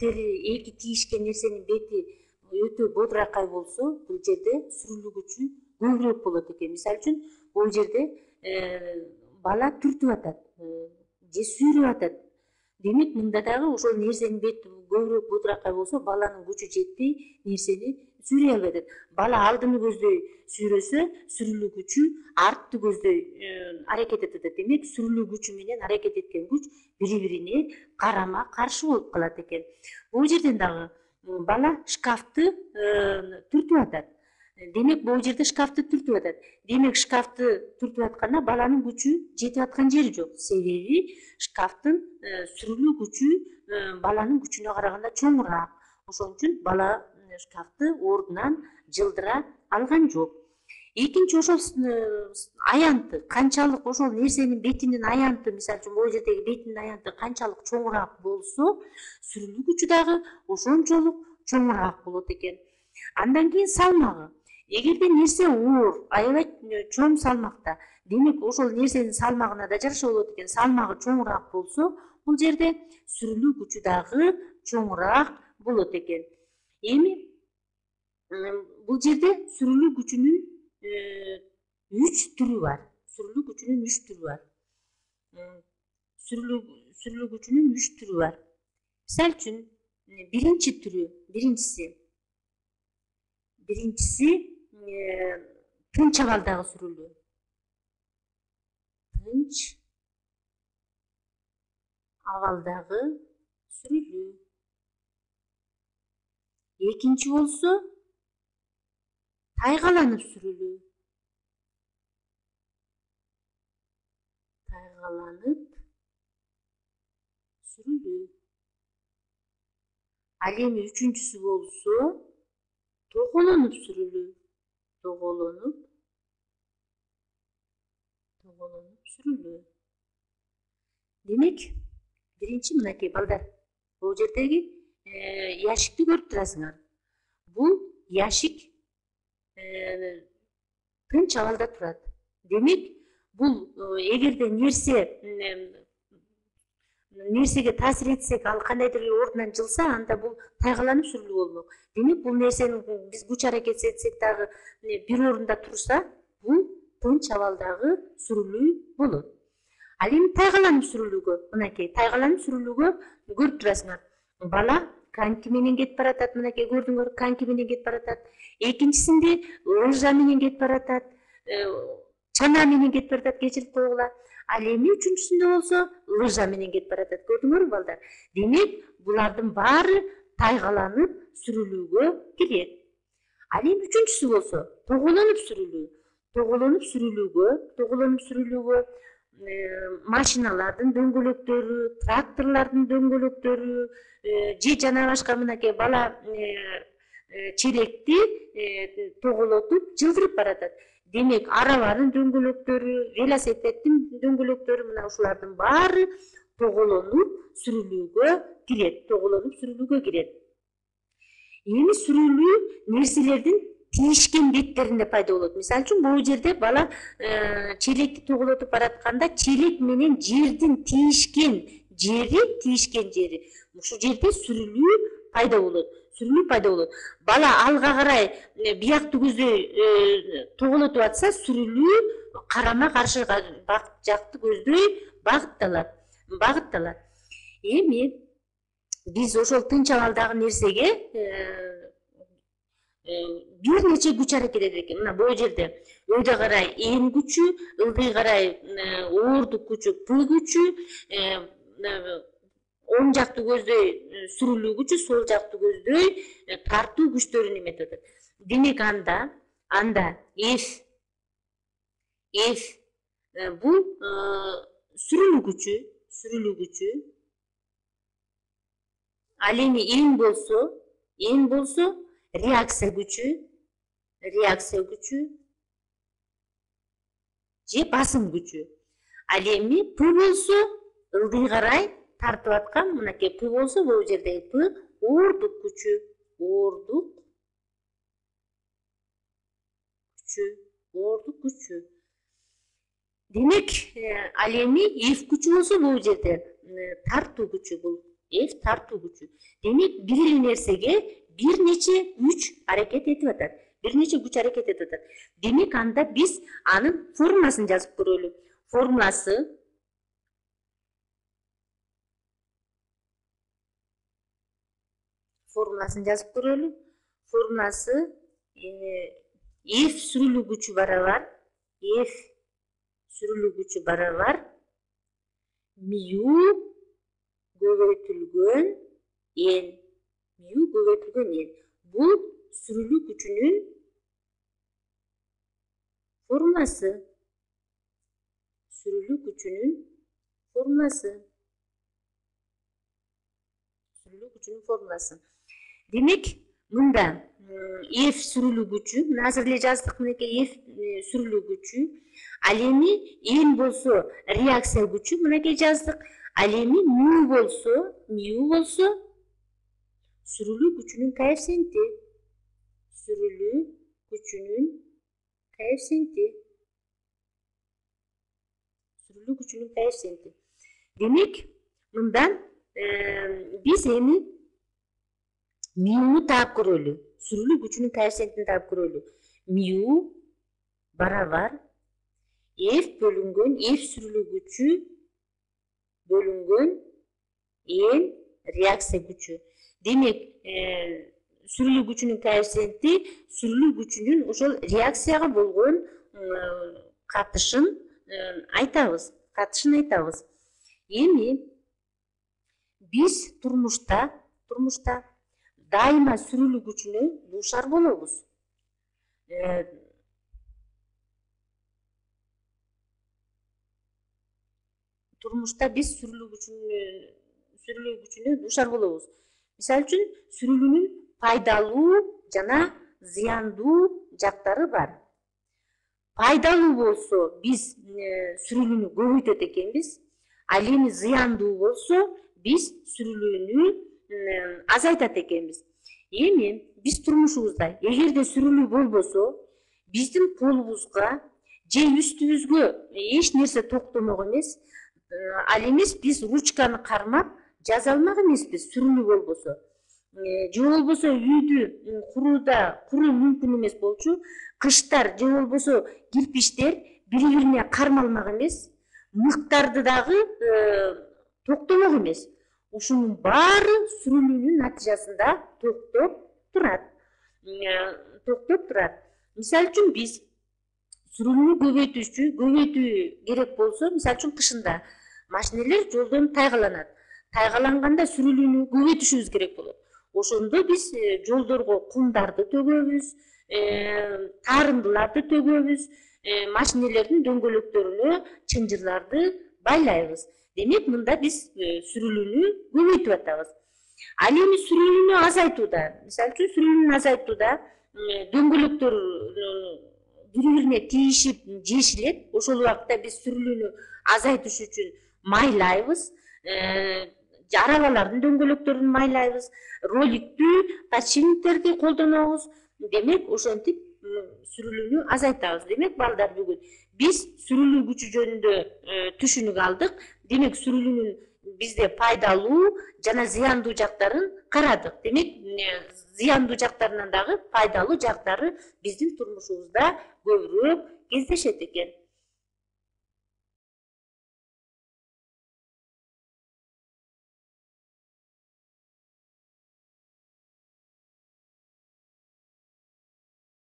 беттери эки тийишкен нерсенин бети өтө бодуракай болсо, бул жерде сүрүлүү күчү көбүрөөк болот экен. Мисалы үчүн, бул жерде бала түртүп атат же сүйрөп атат. Демек, мында дагы ошол нерсенин бети көбүрөөк бодуракай болсо, баланын күчү жетпей нерсени сүйрөй албай атат. Бала алдыны көздөй сүйрөсө, сүрүлүү күчү артты көздөй аракет этет. Демек, сүрүлүү күчү менен аракет эткен күч бири-бирине карама каршы болуп калат экен. Бул жерден дагы бала шкафты түртүп атат. Демек, бул жерде шкафты түртүп атат. Демек, шкафты түртүп атканда баланын күчү жетип аткан жери жок. Себеби шкафтын сүрүлүү күчү баланын күчүнө караганда чоңураак. Ошон үчүн бала шкафты ордунан жылдыра алган жок. Экинчи, ошол аянты канчалык ошол нерсенин бетинин аянты, мисалы үчүн бул жердеги бетинин аянты канчалык чоңураак болсо, сүрүлүү күчү дагы ошончолук чоңураак болот экен. Андан кийин салмагы. Эгерде нерсе оор, аябай чоң салмакта, демек ошол нерсенин салмагына да жараша болот экен. Салмагы чоңураак болсо, бул жерде сүрүлүү күчү дагы чоңураак болот экен. Эми бул жерде сүрүлүү күчүнүн 3 түрү бар. Сүрүлүү күчүнүн 3 түрү бар. Сүрүлүү күчүнүн 3 түрү бар. Мисалы үчүн, биринчиси тынч абалдагы сүрүлүү. Тынч абалдагы сүрүлүү. Экинчи болсо тайгаланып сүрүлүү. Тайгаланып сүрүлүү. Ал эми үчүнчүсү болсо тоголонуп сүрүлүү. Тоголонуп сүрүлүү. Демек, биринчи мынакей балдар, бул жердеги яшикти көрүп турасыңар. Бул яшик тынч абалда турат. Демек, бул эгерде нерсеге таасир этсек, ал кандайдыр ордунан жылса, анда бул тайгаланып сүрүлүү болмок. Демек, бул нерсени биз күч аракет этсек дагы бир орунда турса, бул тынч абалдагы сүрүлүү болот. Ал эми тайгаланып сүрүлүүгө, мынакей тайгаланып сүрүлүүгө көрүп турасыңар. Бала коньки менен кетип баратат, мынакей көрдүңөр, коньки менен кетип баратат. Экинчисинде лыжа менен кетип баратат, чана менен кетип баратат, кечирип койгула. Ал эми үчүнчүсүндө болсо лыжа менен кетип баратат. Көрдүңөрбү балдар? Демек, булардын баары тайгаланып сүрүлүүгө кирет. Ал эми үчүнчүсү болсо тоголонуп сүрүлүү. Тоголонуп сүрүлүүгө машиналардын дөңгөлөктөрү, тракторлордун дөңгөлөктөрү же жана башка мынакей бала челекти тоголотуп жылдырып баратат. Демек, арабанын дөңгөлөктөрү, велосипедтин дөңгөлөктөрү, мына ушулардын баары тоголонуп сүрүлүүгө кирет. Эми сүрүлүү нерселердин тийишкен беттеринде пайда болот. Мисалы үчүн, бул жерде бала челекти тоголотуп баратканда, челек менен жердин тийишкен жери, ушул жерде сүрүлүү пайда болот. Бала алга карай биякты көздөй тоголотуп атса, сүрүлүү карама каршы жакты көздөй багытталат. Эми биз ошол тынч абалдагы нерсеге бир нече күч аракет этет экен. Мына бул жерде өйдө карай эм күчү, ылдый карай оордук күчү П күчү, оң жакты көздөй сүрүлүү күчү, сол жакты көздөй тартуу күчтөрүн эметип атат. Демек, анда F бул сүрүлүү күчү. Ал эми N болсо реакция күчү же басым күчү. Ал эми П болсо ылдый карай тартып аткан, мынакей П болсо, бул жердеги П оордук күчү. Демек, ал эми F күчү болсо, бул жерде тартуу күчү, бул F тартуу күчү. Демек бир эле нерсеге бир нече күч аракет этип атат. Бир нече күч аракет этип атат. Демек анда биз анын формуласын жазып көрөлү. Формуласын жазып көрөлү. Формуласы F сүрүлүү күчү барабар мю көбөйтүлгөн n. Бул сүрүлүү күчүнүн формуласы. Демек, мында F сүрүлүү күчү, мына азыр эле жаздык, мынакей F сүрүлүү күчү, ал эми n болсо реакция күчү, мынакей жаздык. Ал эми мю болсо сүрүлүү күчүнүн коэффициенти. Демек, мындан биз эми мюну таап көрөлү. Сүрүлүү күчүнүн коэффициентин таап көрөлү. Мю барабар F бөлүнгөн F сүрүлүү күчү бөлүнгөн n реакция күчү. Демек, сүрүлүү күчүнүн коэффициенти сүрүлүү күчүнүн ошол реакцияга болгон катышын айтабыз. Эми биз турмушта дайыма сүрүлүү күчүнө дуушар болобуз. Мисалы үчүн, сүрүлүүнүн пайдалуу жана зыяндуу жактары бар. Пайдалуу болсо биз сүрүлүүнү көбөйтөт экенбиз. Ал эми зыяндуу болсо биз сүрүлүүнү азайтат экенбиз. Эми биз турмушубузда эгерде сүрүлүү болбосо, биздин колубузга же үстүбүзгө эч нерсе токтомок эмес. Ал эмес, биз ручканы кармап жаза алмак эмеспиз сүрүлүү болбосо. Же болбосо үйдү куруу мүмкүн эмес болчу. Кыштар же болбосо кирпичтер бири-бирине кармалмак эмес. Мыктарды дагы токтомок эмес. Ушунун баары сүрүлүүнүн натыйжасында токтоп турат. Мисалы үчүн биз сүрүлүүнү көбөйтүү керек болсо, мисалы үчүн кышында машинелер жолдон тайгаланат. Тайгаланганда сүрүлүүнү көбөйтүшүбүз керек болот. Ошондо биз жолдорго кумдарды төгөбүз, тарындыларды төгөбүз, машинелердин дөңгөлөктөрүнө чынжырларды байлайбыз. Демек, мында биз сүрүлүүнү көбөйтүп атабыз. Ал эми сүрүлүүнү азайтууда, мисалы үчүн сүрүлүүнү азайтууда дөңгөлөктөр бири-бирине тийишип жешилет. Ошол убакта биз сүрүлүүнү азайтыш үчүн майлайбыз. Арабалардын дөңгөлөктөрүн майлайбыз, роликтүү подшипниктерди колдонобуз. Демек, ошентип сүрүлүүнү азайтабыз. Демек, балдар, бүгүн биз сүрүлүү күчү жөнүндө түшүнүк алдык. Демек, сүрүлүүнүн бизде пайдалуу жана зыяндуу жактарын карадык. Демек, зыяндуу жактарынан дагы пайдалуу жактары биздин турмушубузда көбүрөөк кездешет экен.